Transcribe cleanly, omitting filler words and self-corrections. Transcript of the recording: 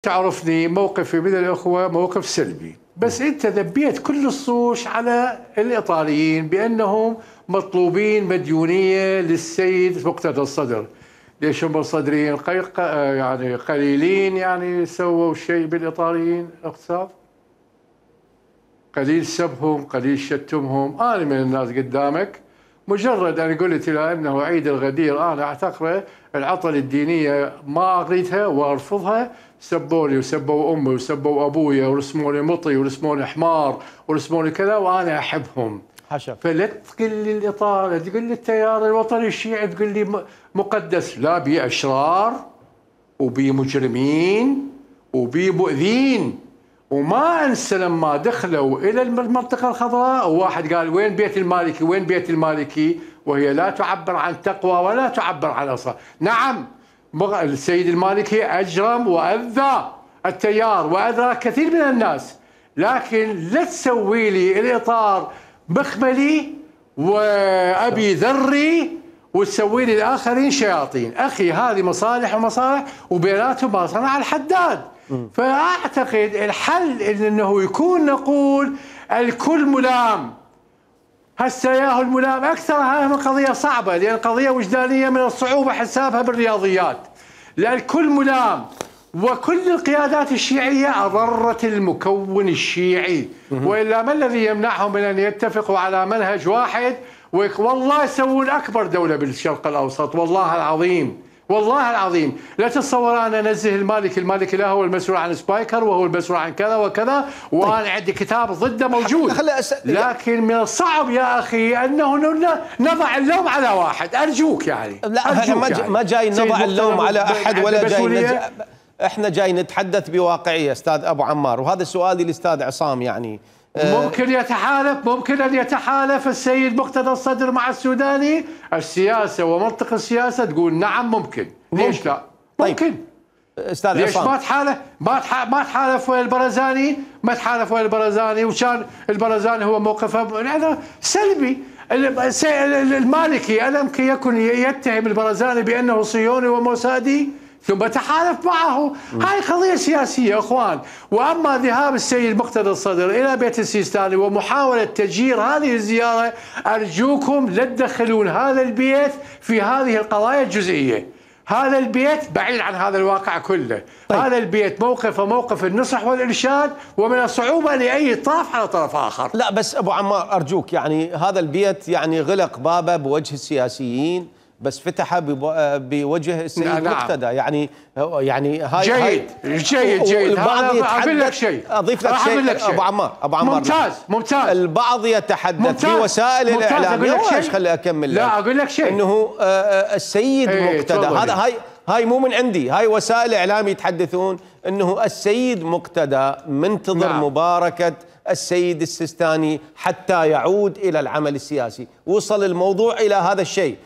تعرفني موقفي من الأخوة موقف سلبي، بس أنت ذبيت كل الصوش على الإيطاليين بأنهم مطلوبين مديونية للسيد مقتدى الصدر. ليش هم صدرين يعني قليلين يعني سووا شيء بالإيطاليين اقتصاد؟ قليل سبهم، قليل شتمهم. أنا من الناس قدامك مجرد أن قلت إلى أنه عيد الغدير أنا أعتقره العطل الدينية ما أريدها وأرفضها، سبوني وسبوا أمي وسبوا أبويا ورسموني مطي ورسموني حمار ورسموني كذا وأنا أحبهم. حشر. فلا تقول لي الإطار، تقول لي التيار الوطني الشيعي تقول لي مقدس. لا، بي أشرار وبي مجرمين وبي مؤذين. وما انسى لما دخلوا الى المنطقه الخضراء وواحد قال وين بيت المالكي؟ وين بيت المالكي؟ وهي لا تعبر عن تقوى ولا تعبر عن اصلاح. نعم السيد المالكي اجرم واذى التيار واذى كثير من الناس، لكن لا تسوي لي الاطار مخملي وابي ذري وتسوي لي الاخرين شياطين. اخي هذه مصالح ومصالح وبيناتهم ما صنع الحداد. فأعتقد الحل إنه يكون نقول الكل ملام. هسه ياهو الملام أكثر. هاي قضية صعبة لأن قضية وجدانية من الصعوبة حسابها بالرياضيات. لأن الكل ملام وكل القيادات الشيعية أضرت المكون الشيعي، وإلا ما الذي يمنعهم من أن يتفقوا على منهج واحد والله يسوون أكبر دولة بالشرق الأوسط. والله العظيم والله العظيم لا تتصور انا انزه المالكي لا هو المسؤول عن سبايكر وهو المسؤول عن كذا وكذا وانا عندي كتاب ضده موجود. لكن من الصعب يا اخي انه نضع اللوم على واحد. ارجوك يعني لا احنا ما جاي نضع اللوم على احد ولا جاي احنا جاي نتحدث بواقعيه استاذ ابو عمار، وهذا سؤالي للاستاذ عصام. يعني ممكن أن يتحالف السيد مقتدى الصدر مع السوداني. السياسة ومنطق السياسة تقول نعم ممكن. ليش لا؟ ممكن. طيب. أستاذ ليش عصام ما تحالف ويا البرزاني؟ ما تحالف ويا البرزاني وكان البرزاني هو موقفه هذا سلبي. المالكي ألم يكن يتهم البرزاني بأنه صهيوني وموسادي ثم تحالف معه. هاي قضية سياسية اخوان. واما ذهاب السيد مقتدى الصدر الى بيت السيستاني ومحاولة تجير هذه الزيارة، ارجوكم لا تدخلون هذا البيت في هذه القضايا الجزئية. هذا البيت بعيد عن هذا الواقع كله. طيب. هذا البيت موقفه موقف النصح والارشاد، ومن الصعوبة لاي طرف على طرف اخر. لا بس ابو عمار ارجوك، يعني هذا البيت يعني غلق بابه بوجه السياسيين بس فتحه بوجه السيد مقتدى. يعني هاي جيد. اقول لك شيء، اضيف لك شيء ابو عمار ممتاز. البعض يتحدث في وسائل الاعلام. ليش خلي اكمل. لا اقول لك شيء، انه السيد مقتدى هذا هاي مو من عندي، هاي وسائل الاعلام يتحدثون انه السيد مقتدى منتظر مباركة السيد السيستاني حتى يعود الى العمل السياسي. وصل الموضوع الى هذا الشيء.